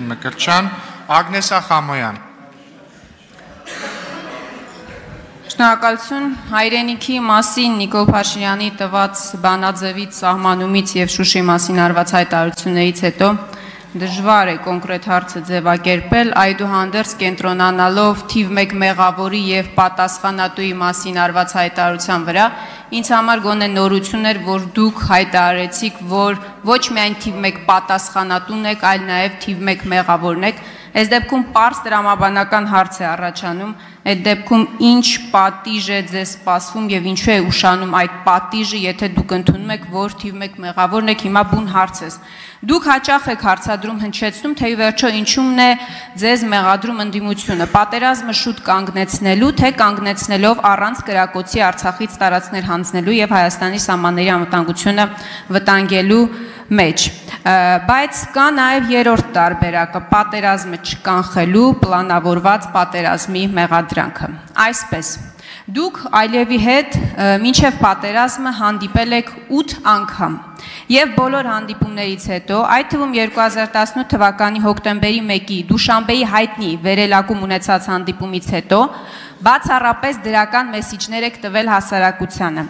Մկրտչյան, Ագնեսա Խամոյան։ Շնորհակալություն հայրենիքի մասին Նիկոլ Փաշինյանի տված բանաձևից, սահմանումից եւ Շուշի մասին արված հայտարարություններից հետո դժվար է կոնկրետ հարցը ձևակերպել, այդուհանդերձ կենտրոնանալով թիվ 1 մեղավորի եւ պատասխանատուի մասին արված հայտարարության վրա, ինձ համար գոնե նորություն էր, որ դուք հայտարարեցիք, որ ոչ միայն թիվ 1 պատասխանատուն եք, այլ նաեւ թիվ 1 մեղավորն եք։ Այս դեպքում պարզ տրամաբանական հարց է առաջանում, այդ դեպքում ինչ պատիժ է ձեզ սպասվում եւ ինչու է ուշանում այդ պատիժը, եթե դուք ընդունում եք, որ թիվ 1 մեղավորն եք, հիմա բուն հարց է։ Դուք հաճախ եք հարցադրում հնչեցնում, թե ի վերջո ինչումն է ձեզ մեղադրում ընդդիմությունը, պատերազմը շուտ կանգնեցնելու, թե կանգնեցնելով առանց կրակոցի Արցախից տարածքներ հանձնելու եւ Հայաստանի սահմանների անվտանգությունը վտանգելու մեջ, բայց կա նաև երրորդ տարբերակը, պատերազմը չկանխելու պլանավորված պատերազմի մեղադրանքը։ Այսպես, դուք Ալիևի հետ մինչև պատերազմը հանդիպել եք 8 անգամ եւ բոլոր հանդիպումներից հետո, այդ թվում 2018 թվականի հոկտեմբերի 1-ի Դուշանբեի հայտնի վերելակում ունեցած հանդիպումից հետո բացառապես դրական մեսիջներ եք տվել հասարակությանը։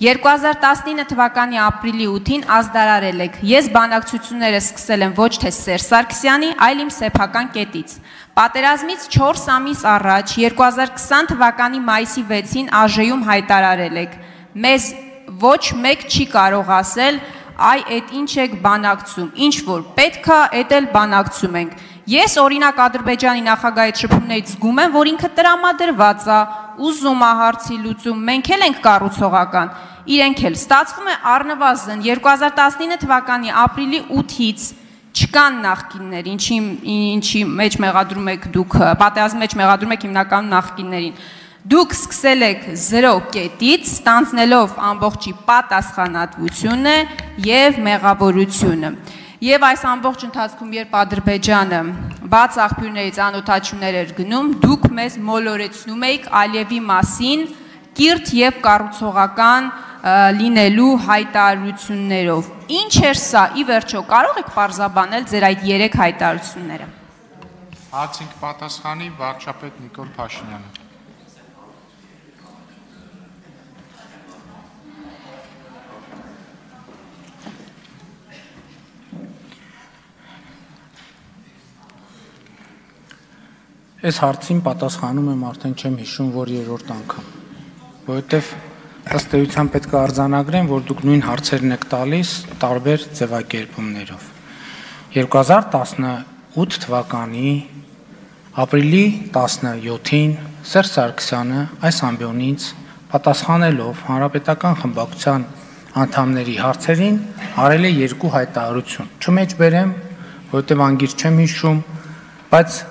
2019 թվականի ապրիլի 8-ին ազդարարել եք, ես բանակցությունները սկսել եմ ոչ թե Սերժ Սարգսյանի, այլ իմ սեփական կետից։ Պատերազմից 4 ամիս առաջ 2020 թվականի մայիսի 6-ին ԱԺ-ում հայտարարել եք, մեզ ոչ մեկ չի կարող ասել, այ այդ ինչ եք բանակցում, ինչ որ պետք է, այդ էլ բանակցում ենք։ Ես օրինակ Ադրբեջանի նախագահի շփումներից զգում եմ, որ ինքը տրամադրված է, ուզում է հարցի լուծում, մենք էլ ենք կառուցողական, իրենք էլ։ Ստացվում է առնվազն 2019 թվականի ապրիլի 8-ից չկան նախկիններ, ինչի մեջ մեղադրում եք դուք, պատերազմի մեջ մեղադրում եք հիմնականում նախկիններին։ Դուք սկսել եք 0 կետից, ստանձնելով ամբողջի պատասխանատվությունը եւ մեղավորությունը։ Եվ այս ամբողջ ընթացքում, երբ Ադրբեջանը բաց աղբյուրներից անօթաչուներ էր գնում, դուք մեզ մոլորեցնում եք Ալիևի մասին կիրթ եւ կառուցողական լինելու հայտարարություններով։ Ինչ էր սա, ի վերջո, կարող եք պարզաբանել ձեր այդ 3 հայտարարությունները։ Հարցին պատասխանի վարչապետ Նիկոլ Փաշինյանը։ Այս հարցին պատասխանում եմ արդեն չեմ հիշում, որ երրորդ անգամ, որովհետև ըստ էության պետք է արձանագրեմ, որ դուք նույն հարցերն եք տալիս տարբեր ձևակերպումներով։ 2018 թվականի ապրիլի 17-ին Սերժ Սարգսյանը այս ամբիոնից պատասխանելով հանրապետական խմբակցության անդամների հարցերին արել է 2 հայտարարություն։ Չմեջ բերեմ, որովհետև անգիր չեմ հիշում, բայց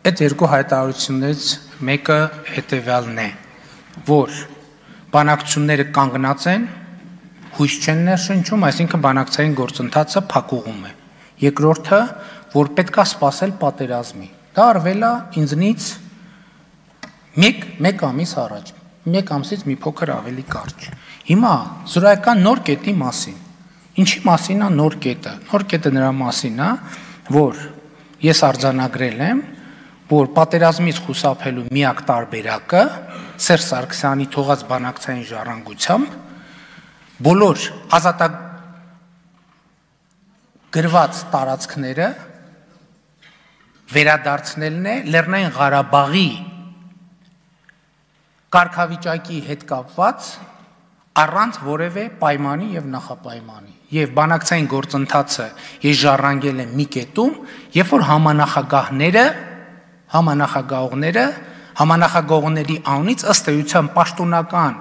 այդ 2 հայտարարություններից մեկը հետևյալն է, որ բանակցությունները կանգնած են, հույս չեն ներշնչում, այսինքն բանակցային գործընթացը փակուղում է։ Երկրորդը, որ պետք է սպասել պատերազմի։ Դա արվել է ինձնից 1 ամիս առաջ, 1 ամսից մի փոքր ավելի կարճ։ Հիմա զրոյական նոր կետի մասին։ Ինչի մասին է նոր կետը։ Նոր կետը նրա մասին է, որ ես արձանագրել եմ, որ պատերազմից խուսափելու միակ տարբերակը Սերժ Սարգսյանի թողած բանակցային ժառանգությամբ բոլոր ազատագրված տարածքները վերադարձնելն է Լեռնային Ղարաբաղի կարգավիճակի հետ կապված առանց որևէ պայմանի եւ նախապայմանի։ Եվ բանակցային գործընթացը ես ժառանգել եմ մի կետում, երբ որ համանախագահողների անունից ըստ էության պաշտոնական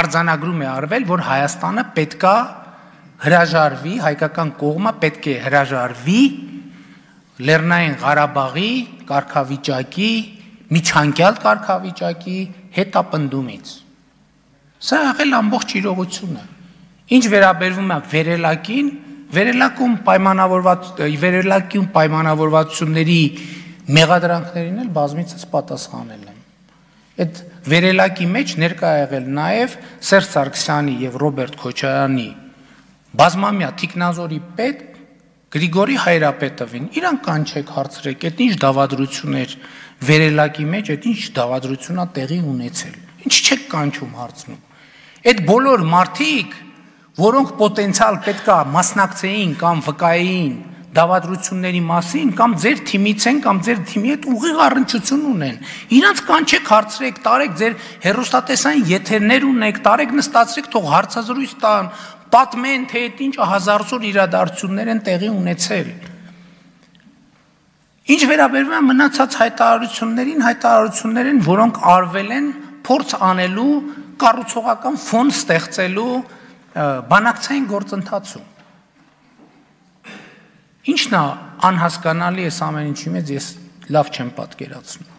արձանագրում է արվել, որ Հայաստանը պետք է հրաժարվի, հայկական կողմը պետք է հրաժարվի Լեռնային Ղարաբաղի կարգավիճակի, միջանկյալ կարգավիճակի հետապնդումից։ Սա եղել ամբողջ իրողությունը։ Ինչ վերաբերվում է վերելակին, վերելակում պայմանավորվածությունների մեղադրանքներին էլ բազմիցս պատասխանել եմ։ Այդ վերելակի մեջ ներկա եղել նաև Սերժ Սարգսյանի եւ Ռոբերտ Քոչարյանի բազմամյա թիկնազորի պետ Գրիգորի Հայրապետովին, իրան կանչեք հարցրեք, այդ ինչ դավադրություններ վերելակի մեջ, այդ ինչ դավադրությունա տեղի ունեցել։ Ինչ չեք կանչում հարցնում։ Այդ բոլոր մարդիկ, որոնք պոտենցիալ պետքա մասնակցեին կամ վկայեին դավադրությունների մասին, կամ ձեր թիմից են, կամ ձեր թիմի հետ ուղիղ առնչություն ունեն։ Իրանց կանչեք հարցրեք, տարեք ձեր հեռուստատեսային եթերներ ունեք, տարեք նստացրեք, թող հարցազրույց տան, պատմեն, թե այդ ինչ հազարսոր իրադարձություններ են տեղի ունեցել։ Ինչ վերաբերվում է մնացած հայտարարություններին, որոնք արվել են փորձ անելու, կառուցողական ֆոն ստեղծելու բանակցային գործընթացում։ Ինչն է անհասկանալի է ամեն ինչի մեջ, ես լավ չեմ պատկերացնում։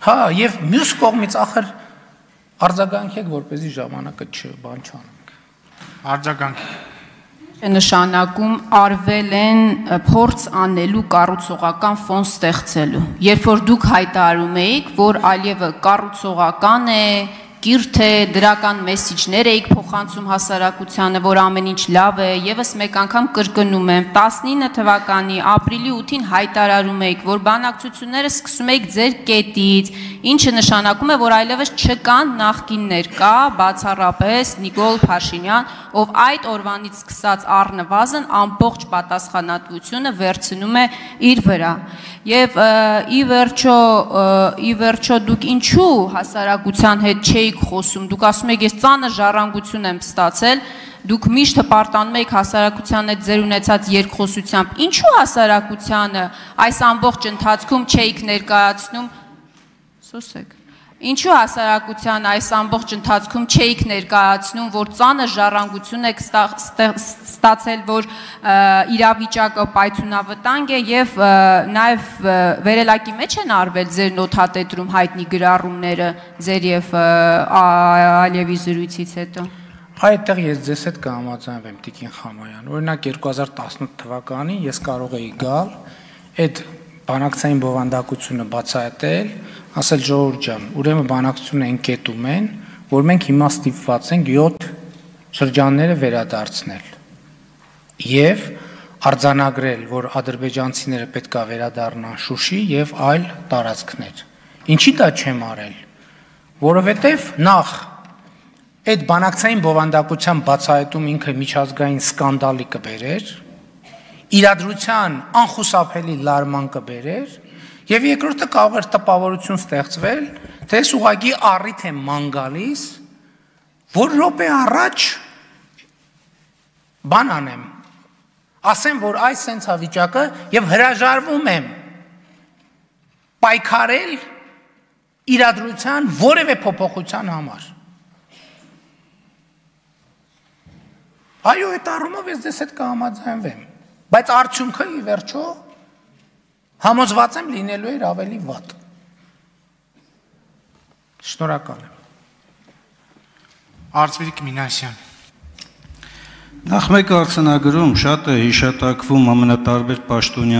Հա, եւ մյուս կողմից ախր արձագանքեք, որպեսզի ժամանակը բան չանենք։ Արձագանք։ Նշանակում արվել են փորձ անելու կառուցողական ֆոն ստեղծելու։ Երբ որ դուք հայտարարում եք, որ Ալիևը կառուցողական է, կիրթ է, դրական մեսիջներ էիք փոխանցում հասարակությանը, որ ամեն ինչ լավ է, եւս մեկ անգամ կրկնում եմ, 19 թվականի ապրիլի 8-ին հայտարարում եք, որ բանակցությունները սկսում եք ձեր կետից, ինչը նշանակում է, որ այլևս չկան նախկիններ, կա բացառապես Նիկոլ Փաշինյան, ով այդ օրվանից սկսած առնվազն ամբողջ պատասխանատվությունը վերցնում է իր վրա։ Եվ ի վերջո դուք ինչու հասարակության հետ չէիք խոսում, դուք ասում եք ես ծանր ժառանգություն եմ ստացել, դուք միշտ հպարտանում եք հասարակության հետ ձեր ունեցած երկխոսությամբ, ինչու հասարակությանը այս ամբողջ ընթացքում չէիք ներկայացնում, ինչու հասարակության այս ամբողջ ընթացքում չէիք ներկայացնում, որ ծանր ժառանգություն եք ստացել, որ իրավիճակը պայթյունավտանգ է եւ նաեւ վերելակի մեջ են արվել ձեր նոթատետրում հայտնի գրառումները ձեր եւ Ալիևի զրույցից հետո։ Այդտեղ ես ձեզ հետ կհամաձայնվեմ Տիկին Խամոյան։ Օրինակ 2018 թվականին ես կարող էի գալ այդ բանակցային բովանդակությունը բացահայտել, ասել ժողովուրդ ջան, ուրեմն բանակցությունը ընկետում են, որ մենք հիմա ստիպված ենք 7 շրջանները վերադարձնել եւ արձանագրել, որ ադրբեջանցիները պետքա վերադառնան Շուշի եւ այլ տարածքներ։ Ինչի դա չեմ արել, որովհետեւ նախ այդ բանակցային բովանդակության բացահայտում ինքը միջազգային սկանդալի կբերեր, իրադրության անխուսափելի լարման կբերեր եւ երկրորդը կարող էր տպավորություն ստեղծվել, թե ես ուղղակի առիթ եմ ման գալիս, որ րոպե առաջ բան անեմ, ասեմ, որ այս սենց վիճակը եւ հրաժարվում եմ պայքարել իրադրության որևէ փոփոխության համար։ Այո, այդ առումով ես ձեզ հետ կհամաձայնվեմ, բայց արդյունքը ի վերջո համոզված եմ լինելու էր ավելի վատ։ Շնորհակալ եմ։ Արծվիկ Մինասյան։ Նախ մեկ արձանագրում շատ է հիշատակվում ամենատարբեր պաշտոնյա